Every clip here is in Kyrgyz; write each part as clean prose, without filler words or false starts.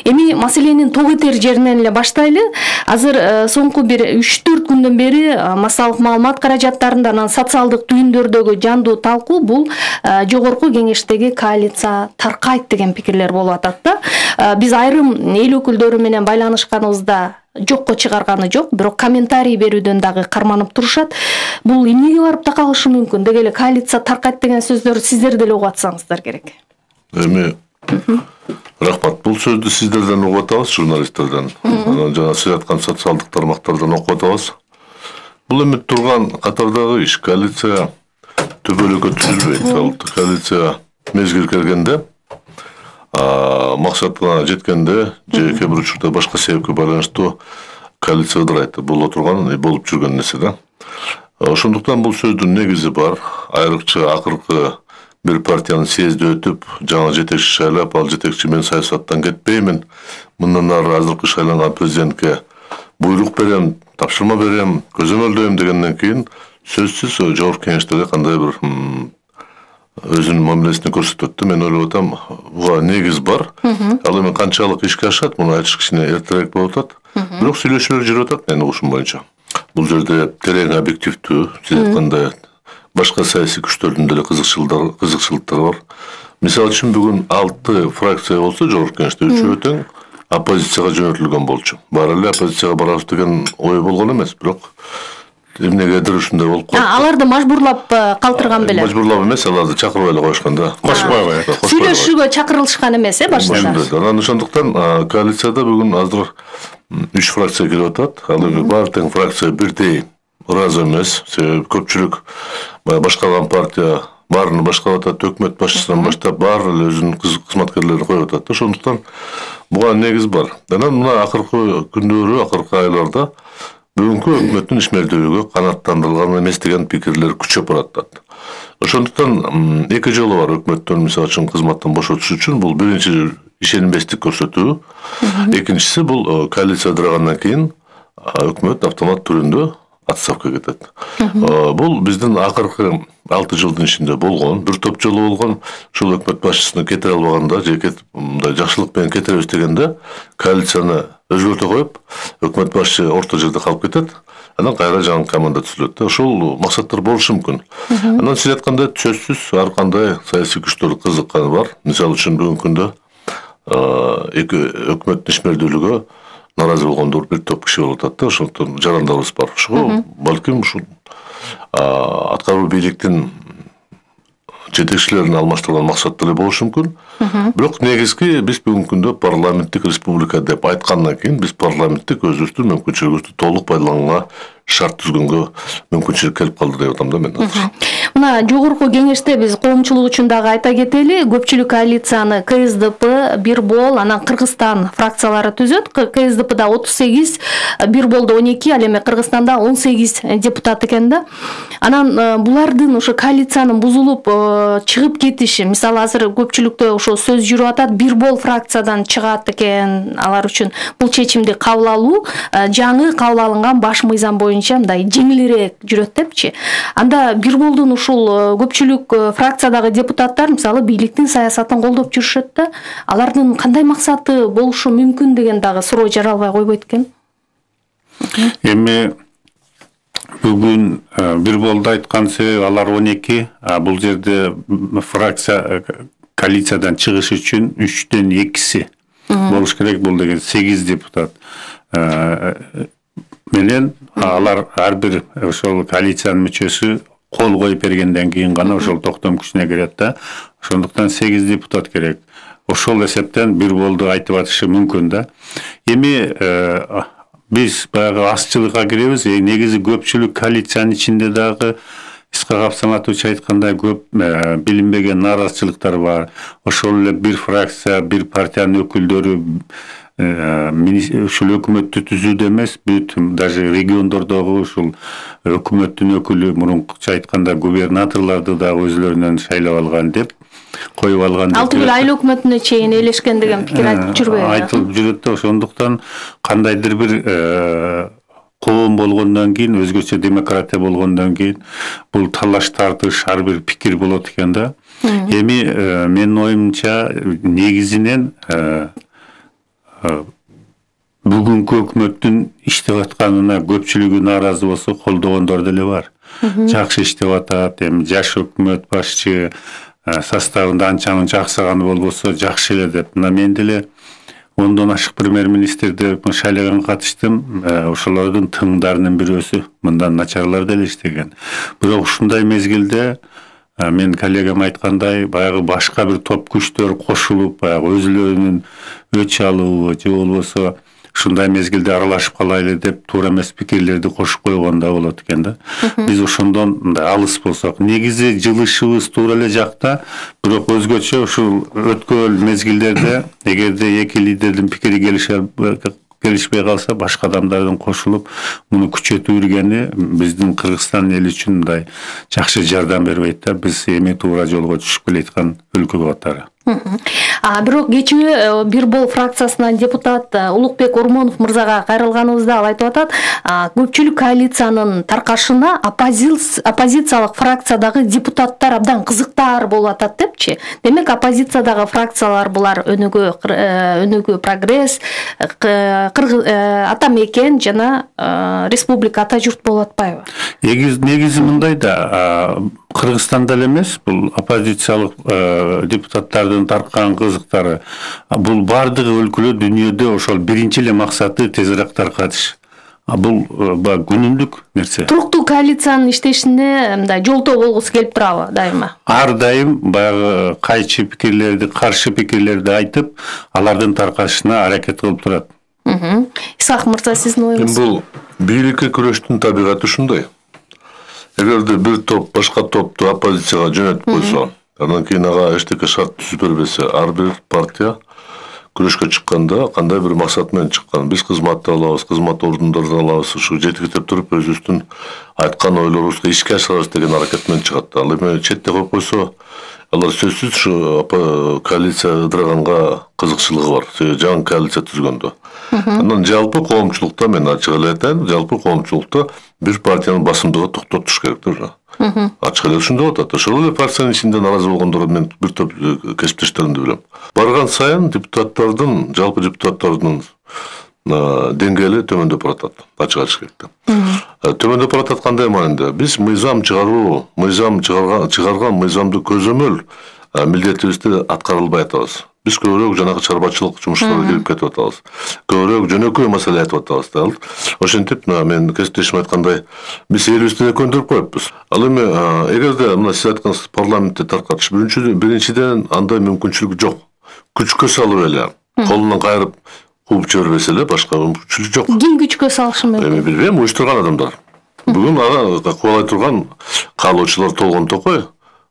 Эми маселенин тогетер жеринен эле баштайлы. Азыр соңку бир 3-4 күндөн бери массалык маалымат каражаттарында, анан социалдык түйүндөрдөгү жандуу талкуу бул жогорку кеңештеги коалиция таркайт деген пикирлер болуп атат да. Биз айрым эл өкүлдөрү менен байланышканыбызда жокко чыгарганы жок, бирок комментарий берүүдөн дагы карманып турушат. Бул эмнеге барып такалышы мүмкүн? Деги эле коалиция таркайт деген сөздөр сиздер деле угуп атсаңыздар керек. Эми рахмат. Бул сөздү сиздерден угуп атабыз, журналисттерден. Анан жана сиз айткан социалдык тармактардан окуп атабыз. Бул эми турган катардагы иш. Коалиция төбөлүккө түзүлбөйт. Ал коалиция мезгил келгенде, максатына жеткенде, же кээ бир учурда башка себепке байланыштуу коалиция ыдырайт. Бул отурган болуп жүргөн нерсе да. Ошондуктан бул сөздүн негизи бар. Айрыкча акыркы bir partiyanın съезди өтүп, жаңы жетекчи шайлап, ал жетекчи мен саясаттан кетпеймин. Мындан ары азыркы шайланган президентке буйрук берем, тапшырма берем, көзөмөлдөйм дегенден кийин сөзсүз жогорку кеңештеге кандай бир өзүнүн мамилесин көрсөтөт. Мен ойлоп атам, буга негиз бар. Ал эми канчалык ишке ашат, муну айтыш кичине эртерээк болуп атат. Бирок сүйлөшүүлөр жүрүп атат менин угушум боюнча. Бул жерде терең объективдүү, сиз айткандай башка саясий күчтөрдүн деле кызыкчылыктары бар. Мисалы үчүн бүгүн 6 фракция болсо, жогорку кеңеште 3-өө тең оппозицияга жөнөтүлгөн болчу. Баары эле оппозицияга барабыз деген ой болгон эмес, бирок эмнегедир ушундай болуп калды. Аларды мажбурлап калтырган беле. Мажбурлап эмес, аларды чакырбай эле коюшкан да. Кошпой. Сүйлөшүүгө чакырылышкан эмес, башында. Анан ошондуктан коалицияда бүгүн азыр 3 фракция кирип атат. Ал эми баары тең фракция бирдей ыраазы эмес. Себеби көпчүлүк башкарган партия баарын башкарып атат, өкмөт башчысынан баштап баары эле өзүнүн кызматкерлерин коюп атат. Ошондуктан буга негиз бар. Анан мына акыркы күндөрү, акыркы айларда бүгүнкү өкмөттүн ишмердүүлүгү канааттандырылган эмес деген пикирлер күчөп баратат. Ошондуктан эки жолу бар өкмөттөн мисалы үчүн кызматтан бошотуш үчүн. Бул биринчи ишенимбестик көрсөтүү. Экинчиси бул коалиция ыдырагандан кийин өкмөт автомат түрүндө отставкага кетет. Бул биздин акыркы 6 жылдын ичинде болгон, бир топ жолу болгон. Ушул өкмөт башчысына кетире албаганда, же мындай жакшылык менен кетиребиз дегенде коалицияны өзгөртө коюп, өкмөт башчы орто жерде калып кетет. Анан кайра жаңы команда түзүлөт. Ошол максаттар болушу мүмкүн. Анан сиз айткандай сөзсүз ар кандай саясий күчтөр кызыкканы бар. Мисалы үчүн бүгүнкү күндө өкмөттүн ишмердүүлүгү наразы болгондор бир топ киши болуп атат да. Ошондон жарандабыз бар. Ошого балким ушул аткаруу бийликтин жетекчилерин алмаштырган максат деле болушу мүмкүн. Бирок негизги биз бүгүнкү күндө парламенттик республика деп айткандан кийин биз парламенттик өзүбүздүн мүмкүнчүлүгүбүздү толук пайдаланганга шарт түзгөнгө мүмкүнчүлүк келип калды деп атам да мен. Мына жогорку кеңеште биз коомчулук үчүн дагы айта кетели, көпчүлүк коалицияны КСДП, Бирбол, анан Кыргызстан фракциялары түзөт. КСДПда 38, Бирболдо 12, ал эми Кыргызстанда 18 депутат экен да. Анан булардын ошо коалициянын бузулуп чыгып кетиши, мисалы азыр көпчүлүктө ошо сөз жүрүп атат, Бирбол фракциядан чыгат экен, алар үчүн бул чечимди кабыл алуу жаңы кабыл алынган баш мыйзам боюнча мындай жеңилирээк жүрөт депчи. Анда Бирболдун ушул көпчүлүк фракциядагы депутаттар мисалы бийликтин саясатын колдоп жүрүшөт да. Алардын кандай максаты болушу мүмкүн деген дагы суроо жаралбай койбойт экен. Эми бүгүн Бирболдо айткан себеби алар 12, бул жерде фракция коалициядан чыгыш үчүн 3-төн 2-си болуш керек. Бул деген 8 депутат менен алар ар бир ошол коалициянын мүчөсү кол коюп бергенден кийин гана ошол токтом күчүнө кирет да. Ошондуктан 8 депутат керек. Ошол эсептен Бирболду айтып атышы мүмкүн да. Эми биз баягы азчылыкка киребиз. Негизи көпчүлүк коалициянын ичинде дагы Исхак Абсаматович айткандай көп билинбеген наразычылыктар бар. Ошол эле бир фракция, бир партиянын өкүлдөрү ушул өкмөттү түзүүдө эмес, бүт даже региондордогу ушул өкмөттүн өкүлү мурункуча айтканда губернаторлорду дагы өзлөрүнөн шайлап алган деп коюп алган. Ал түгүл айыл өкмөтүнө чейин элешкен деген пикир айтып жүрбөйбү? Айтылып жүрөт да. Ошондуктан кандайдыр бир коом болгондон кийин, өзгөчө демократия болгондон кийин бул талаш тартыш ар бир пикир болот экен да. Эми менин оюмча негизинен бүгүнкү өкмөттүн иштеп атканына көпчүлүгү нааразы болсо колдогондор деле бар. Жакшы иштеп атат, эми жаш өкмөт башчы составында анчанын жаксаганы болбосо жакшы эле деп. Мына мен деле 10дон ашык премьер-министрди шайлаганга катыштым. Ошолордун тыңдарынын бирөөсү мындан начарлар деле иштеген. Бирок ушундай мезгилде мен коллегам айткандай, баягы башка бир топ күчтөр кошулуп, баягы өзүлөрүнүн өч алуу же болбосо ушундай мезгилде аралашып калайлы деп туура эмес пикирлерди кошуп койгонда болот экен да. Биз ошондон мындай алыс болсок, негизи жылышыбыз туура эле жакта, бирок өзгөчө ушул өткөн мезгилдерде эгерде эки лидердин пикири келишпей калса, башка адамдардын кошулуп муну күчөтүү үргени биздин Кыргызстан эли үчүн мындай жакшы жардам бербейт да. Биз эми туура жолго түшүп келаткан өлкө катары. Бирок кечээ бир бол фракциясынан депутат Улукбек Ормонов мырзага кайрылганыбызда ал айтып атат, көпчүлүк коалициянын таркашына оппозициялык фракциядагы депутаттар абдан кызыктар болуп атат депчи. Демек оппозициядагы фракциялар булар Өнүгүү Прогресс, Ата Мекен жана Республика Ата Журт болуп атпайбы? Негизи мындай да, Кыргызстанда эле эмес, бул оппозициялык депутаттардын тарккан кызыктары, бул бардыгы өлкөлөр дүйнөдө ошол биринчи эле максаты тезирээк таркатыш. Бул күнүмдүк нерсе. Туруктуу коалициянын иштешине мындай жолтоо болгусу келип турабы дайыма? Ар дайым баягы кайчы пикирлерди, каршы пикирлерди айтып, алардын таркашына аракет кылып турат. Исак мырза, сиздин оюңуз? Бул бийликке күрөштүн табигаты ушундай. Эгерде бир топ башка топту оппозицияга жөнөтүп койсо, андан кийин ага эчтеке шарт түзүп бербесе, ар бир партия күрөшкө чыкканда кандай бир максат менен чыккан, биз кызматты алабыз, кызмат ордундарын алабыз, ушу жетектеп туруп өзүбүздүн айткан ойлорубузду ишке ашырабыз деген аракет менен чыгат. Ал эми четте коюп койсо, алар сөзсүз ушу коалиция ыдыраганга кызыкчылыгы бар, жаңы коалиция түзгөндө. Андан жалпы коомчулукта, мен ачык эле айтайын, жалпы коомчулукта бир партиянын басымдыгы токтотуш керек да. Ачык эле ушундай атат. Ошол эле партиянын ичинде нааразы болгондор мен бир топ кесиптештеримди билем. Барган сайын депутаттардын, жалпы депутаттардын деңгээли төмөндөп баратат. Ачык айтыш керек да. Төмөндөп баратат кандай маанинде? Биз мыйзам чыгарган мыйзамды көзөмөл милдетибизди аткара албай атабыз. Биз көбүрөөк жанагы чарбачылык жумуштарга кирип кетип атабыз. Көбүрөөк жөнөкөй маселе айтып атабыз да. Ошентип, мен кесиптешим айткандай, биз элибизди көндүрүп коюппуз. Ал эми эгерде мына сиз айткансыз парламентте таркатыш, биринчиден андай мүмкүнчүлүк жок. Күчкө салып эле, колунан кайрып кууп жибербесе эле башка мүмкүнчүлүк жок. Ким күчкө салышы мүмкүн? Эми билбейм, уюштурган адамдар. Бүгүн ага кубалай турган каалоочулар толгон токой.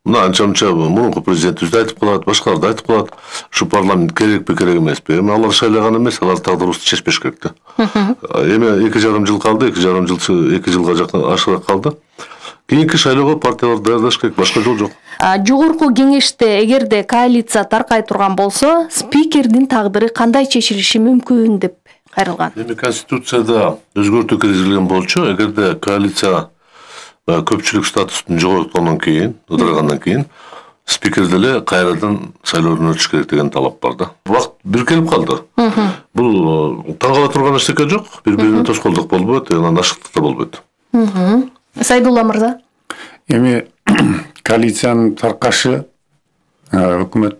Мына анча-мынча мурунку президентибиз да айтып калат, башкалар да айтып калат. Ушу парламент керекпи, керек эмеспи? Эми алар шайлаган эмес, алар тагдырыбызды чечпеш керек да. Эми 2,5 жыл калды, 2 жылга жакын ашыраак калды. Кийинки шайлоого партиялар даярдаш керек, башка жол жок. Жогорку кеңеште эгерде коалиция таркай турган болсо, спикердин тагдыры кандай чечилиши мүмкүн деп кайрылган? Эми Конституцияда өзгөртүү киргизилген болчу, эгерде коалиция көпчүлүк статустун жогорткондон кийин, ыдыргандан кийин спикер деле кайрадан шайлоодон өтүш керек деген талап бар да. Убакыт бир келип калды. Бул таң кала турган эчтеке жок, бири-бирине тоскоолдук болбойт, анан ашыктык да болбойт. Сайдулла мырза. Эми коалициянын таркашы өкмөт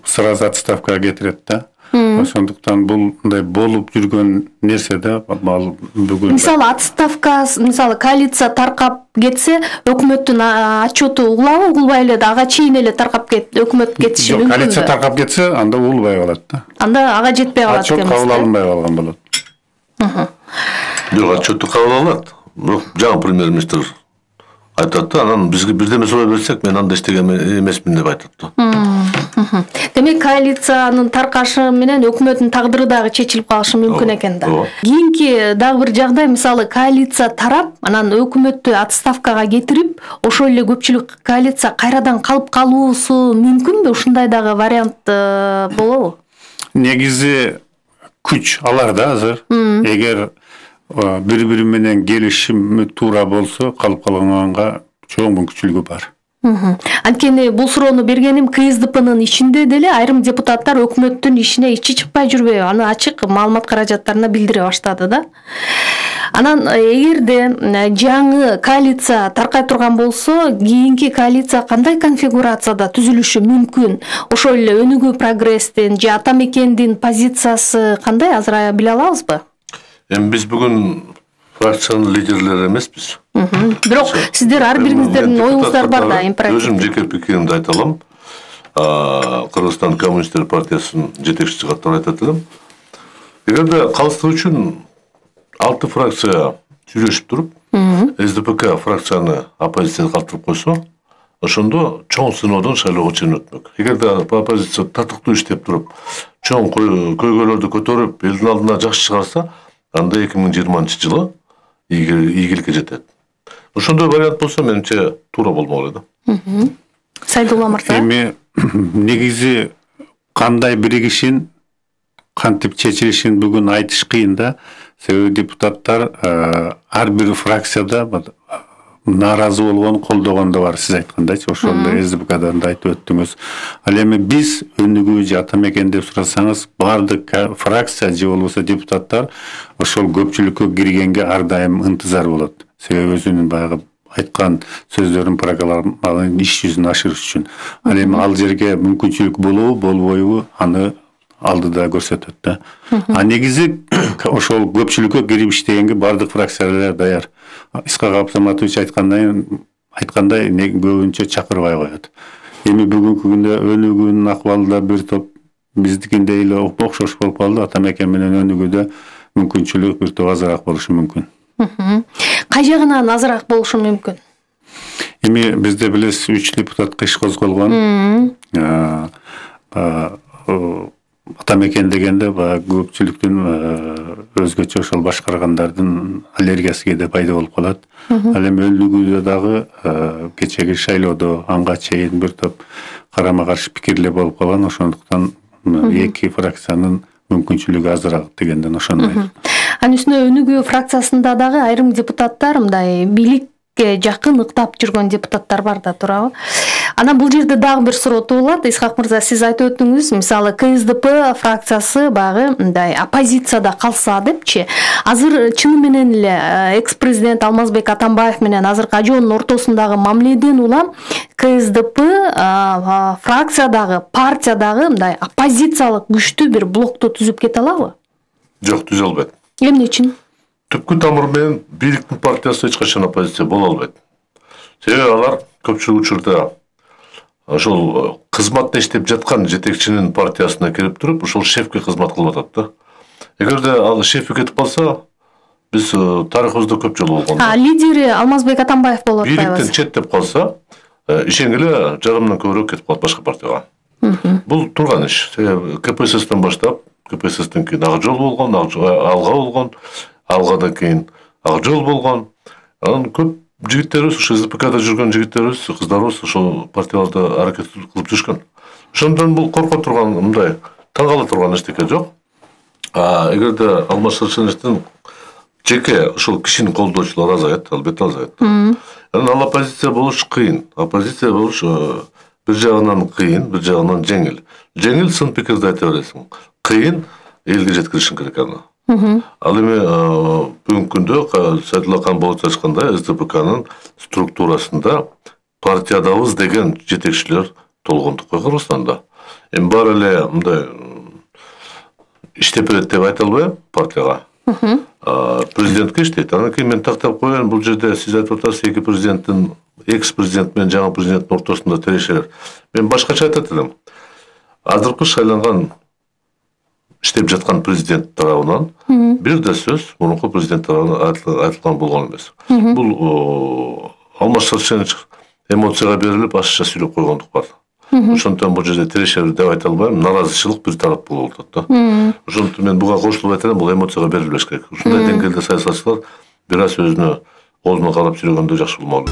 сразу отставкага кетирет да. Ошондуктан бул мындай болуп жүргөн нерсе да, бүгүн. Мисалы отставка, мисалы коалиция таркап кетсе, өкмөттүн отчету угулабы, угулбай эле да ага чейин эле таркап өкмөт кетиши мүмкүн. Коалиция таркап кетсе, анда угулбай калат да. Анда ага жетпей калат экенбиз. Отчет кабыл алынбай калган болот. Жок, отчетту кабыл алат. Бирок жаңы премьер-министр айтат да, анан бизге бирдеме сурай берсек, мен анда иштеген эмесмин деп айтат да. Демек коалициянын таркашы менен өкмөттүн тагдыры дагы чечилип калышы мүмкүн экен да. Кийинки дагы бир жагдай, мисалы коалиция тарап, анан өкмөттү отставкага кетирип, ошол эле көпчүлүк коалиция кайрадан калып калуусу мүмкүнбү? Ушундай дагы вариант болобу? Негизи күч алар да азыр. Эгер бири-бири менен келишим туура болсо, калып калганга чоң мүмкүнчүлүгү бар. Анткени бул суроону бергеним КСДПнын ичинде деле айрым депутаттар өкмөттүн ишине ичи чыкпай жүрбөйбү, аны ачык маалымат каражаттарына билдире баштады да. Анан эгерде жаңы коалиция таркай турган болсо, кийинки коалиция кандай конфигурацияда түзүлүшү мүмкүн? Ошол эле Өнүгүү прогресстин же Ата Мекендин позициясы кандай, азыр биле алабызбы? Эми биз бүгүн фракциянын лидерлери эмеспиз. Бирок сиздер ар бириңиздердин оюңуздар бар да, императив. Өзүм жеке пикиримди айта алам. Кыргызстан Коммунисттер партиясынын жетекчиси катары айтат элем. Эгерде калыстык үчүн 6 фракция сүйлөшүп туруп, СДПК фракцияны оппозицияга калтырып койсо, ошондо чоң сыноодон шайлоого чейин өтмөк. Эгерде оппозиция татыктуу иштеп туруп, чоң көйгөйлөрдү көтөрүп, элдин алдына жакшы чыгарса, анда 2020-жылы ийгиликке жетет. Ошондой вариант болсо, менимче туура болмок эле да. Сайдулла мырза. Эми негизи кандай биригишин, кантип чечилишин бүгүн айтыш кыйын да. Себеби депутаттар ар бир фракцияда нааразы болгон, колдогон да бар, сиз айткандайчы, ошол эле СДПКдан да айтып өттүңүз. Ал эми биз Өнүгүү же Ата Мекен деп сурасаңыз, бардык фракция же болбосо депутаттар ошол көпчүлүккө киргенге ар дайым ынтызар болот. Себеби өзүнүн баягы айткан сөздөрүн, программаларын иш жүзүнө ашырыш үчүн. Ал эми ал жерге мүмкүнчүлүк болобу, болбойбу, аны алдыда көрсөтөт да. Негизи ошол көпчүлүккө кирип иштегенге бардык фракциялар даяр. Исхак Абсаматович айткандай көбүнчө чакырбай коет. Эми бүгүнкү күндө Өнүгүүнүн акыбалы да бир топ биздикиндей эле окшош болуп калды. Ата Мекен менен Өнүгүүдө мүмкүнчүлүк бир топ азыраак болушу мүмкүн. Кай жагынан азыраак болушу мүмкүн? Эми бизде билесиз 3 депутатка иш козголгон. Ата Мекен дегенде көпчүлүктүн өзгөчө ошол башкаргандардын аллергиясы кээде пайда болуп калат. Ал эми Өнүгүүдө дагы кечеги шайлоодо анга чейин бир топ карама каршы пикирлер болуп калган. Ошондуктан эки фракциянын мүмкүнчүлүгү азыраак дегенден ошондой. Анын үстүнө Өнүгүү фракциясында дагы айрым депутаттар мындай бийликке жакын ыктап жүргөн депутаттар бар да, туурабы? Анан бул жерде дагы бир суроо туулат. Исхак мырза, сиз айтып өттүңүз, мисалы КСДП фракциясы багы мындай оппозицияда калса депчи. Азыр чыны менен эле экс-президент Алмазбек Атамбаев менен азыркы ажоонун ортосундагы мамиледен улам КСДП фракциядагы, партиядагы мындай оппозициялык күчтүү бир блокту түзүп кете алабы? Жок, түзө албайт. Эмне үчүн? Түпкү тамыры менен бийликтин партиясы эч качан оппозиция боло албайт. Себеби алар көпчүлүк учурда ошол кызматта иштеп жаткан жетекчинин партиясына кирип туруп, ошол шефке кызмат кылып атат да. Эгерде ал шефи кетип калса, биз тарыхыбызда көп жолу болгон. Лидери Алмазбек Атамбаев болуп атпайбы? Бийликтен четтеп калса, ишенгиле жарымдан көбүрөөк кетип калат башка партияга. Бул турган иш. КПССтен баштап, КПССтен кийин Ак жол болгон, Алга болгон, Алгадан кийин Ак жол болгон. Анан көп жигиттерибиз, ошо СДПКда жүргөн жигиттерибиз, кыздарыбыз ошол партияларда аракет кылып жүрүшкөн. Ошондон бул корко турган, мындай таң кала турган эчтеке жок. Эгерде Алмаз Шаршеновичтин жеке ошол кишинин колдоочулары азайат, албетте азайат. Анан ал оппозиция болуш кыйын. Оппозиция болуш бир жагынан кыйын, бир жагынан жеңил. Жеңил сын пикирди айта бересиң. Кыйын элге жеткиришиң керек аны. Ал эми бүгүнкү күндө Сайдулла Камболович айткандай СДПКнын структурасында партиядабыз деген жетекчилер толгондукка Кыргызстанда. Эми баары эле мындай иштеп берет деп айта албайм партияга. Президентке иштейт. Анан кийин мен тактап коеюн, бул жерде сиз айтып атасыз, эки президенттин, экс-президент менен жаңы президенттин ортосунда тирешелер. Мен башкача айтат элем. Азыркы шайланган иштеп жаткан президент тарабынан бир да сөз мурунку президент тарабынан айтылган болгон эмес. Бул Алмаз Шаршенович эмоцияга берилип ашыкча сүйлөп койгондук бар. Ошондон бул жерде тирешелер деп айта албайм, наразычылык бир тарап болуп атат да. Ошондон мен буга кошулуп айтам, бул эмоцияга берилбеш керек. Ушундай деңгээлде саясатчылар бир аз өзүнө карап сүйлөгөндө жакшы болмок.